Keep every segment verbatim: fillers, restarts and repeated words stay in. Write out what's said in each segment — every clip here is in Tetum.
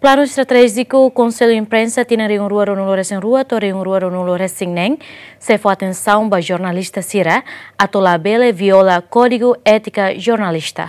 Planu estratéjiku Konsellu Imprensa tinan rihun rua ruanulu resin rua to'o rihun rua ruanulu resin neen sei fó atensaun ba jornalista sira atu labele viola Kódigu Étika Jornalista.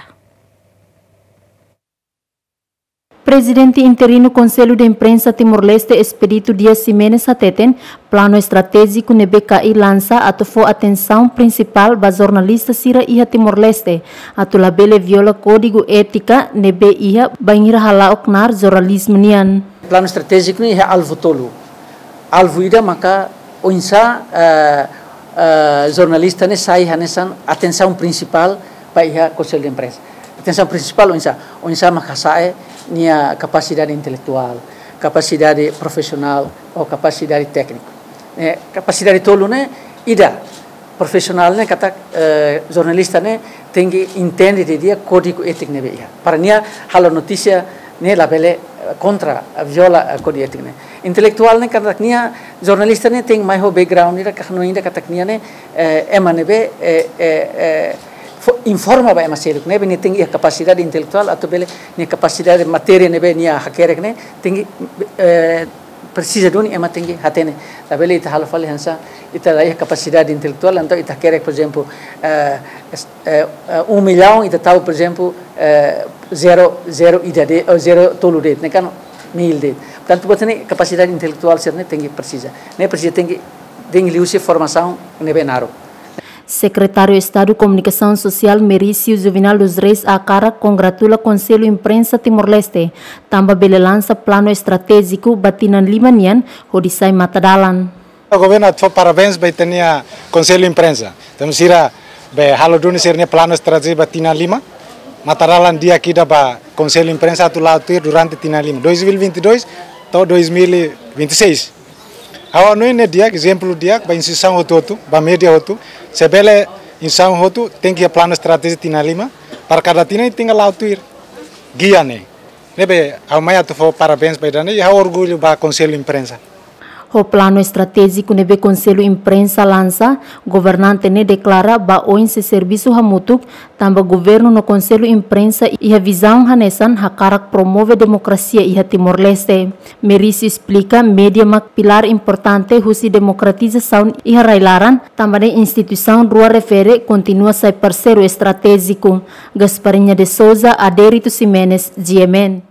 Prezidente interinu Konsellu de Imprensa Timor-Leste, Expedito Dias Ximenes, hateten planu estratéjiku ne'ebé K I lansa atu fó atensaun prinsipál ba jornalista sira iha Timor-Leste, atu labele viola kódigu étika ne'ebé iha bainhira hala'o knaar jornalizmu nian. Planu estratéjiku ne'e iha alvu tolu. Alvu ida maka oinsá, eh, eh, jornalista ne'e sai hanesan atensaun prinsipál ba iha Konsellu de Imprensa. Atensaun prinsipál oinsá, oinsá mak hasa'e nia kapasidade intelektuál, kapasidade profisionál ou kapasidade tékniku. Eh, kapasidade tolu ne'e ida, profisionál ne'e katak, eh, jornalista ne'e tenke entende didi'ak kódigu étiku ne'ebé iha. Para nia halo notísia ne'e labele, eh, kontra, eh, viola, eh, kódigu étiku ne'e. Intelektuál ne'e katak nia jornalista ne'e tenke mai ho background ida ka hanoin ida katak nia ne'e, eh, ema ne'ebé, eh, eh, eh, fo-, informa ba ema seluk ne'ebé nia tenke iha kapasidade intelektuál atu bele nia kapasidade matéria ne'ebé nia hakerek ne'e tenke, eh, presiza duni ema tenke hatene. Labele ita halo fali hanesan ita la iha kapasidade intelektuál, entaun ita hakerek, por ezemplu, eh, es-, eh, eh, um milhão ita tau, por ezemplu, eh, zero, zero ida de'it, ou zero tolu de'it, ne'e kan mil de'it. Portantu, buat ne'e kapasidade intelektuál sira ne'e tenke presiza. Ne'e presiza tenke, tenke liuhusi formasaun ne'ebé naruk. Sekretáriu Estadu Komunikasaun Sosiál Merício Juvenal dos Reis hakarak kongratula Konsellu Imprensa Timor-Leste, tanba bele lansa planu estratéjiku ba tinan lima nian hodi sai matadalan. Governu atu fó parabéns ba ita-nia Konsellu Imprensa. Tanba sira be halo duni sira-nia planu estratéjiku ba tinan lima. Matadalan di'ak ida ba Konsellu Imprensa atu la'o tuir durante tinan lima, dois mil e vinte e dois to'o dois mil e vinte e seis. Ha'u hanoin ne'e di'ak, ezemplu di'ak ba instituisaun hotu-hotu, ba média hotu. Se bele instituisaun hotu tenke iha planu estratéjiku tinan lima, para kada tinan tenke la'o tuir gia ne'e. Ne'ebé ha'u mai atu fó parabéns ba ida-ne'e, i ha'u orgullu ba Konsellu Imprensa. Ho planu estratéjiku ne'ebé Konsellu Imprensa lansa, governante ne'e deklara ba oin sei servisu hamutuk, tanba governu no Konsellu Imprensa iha vizaun hanesan hakarak promove demokrasia iha Timor-Leste. Merício esplika média mak pilár importante husi demokratizasaun iha rai-laran, tanba ne'e instituisaun rua refere kontinua sai parseiru estratéjiku. Gasparinha de Souza, Adérito Ximenes, G M N.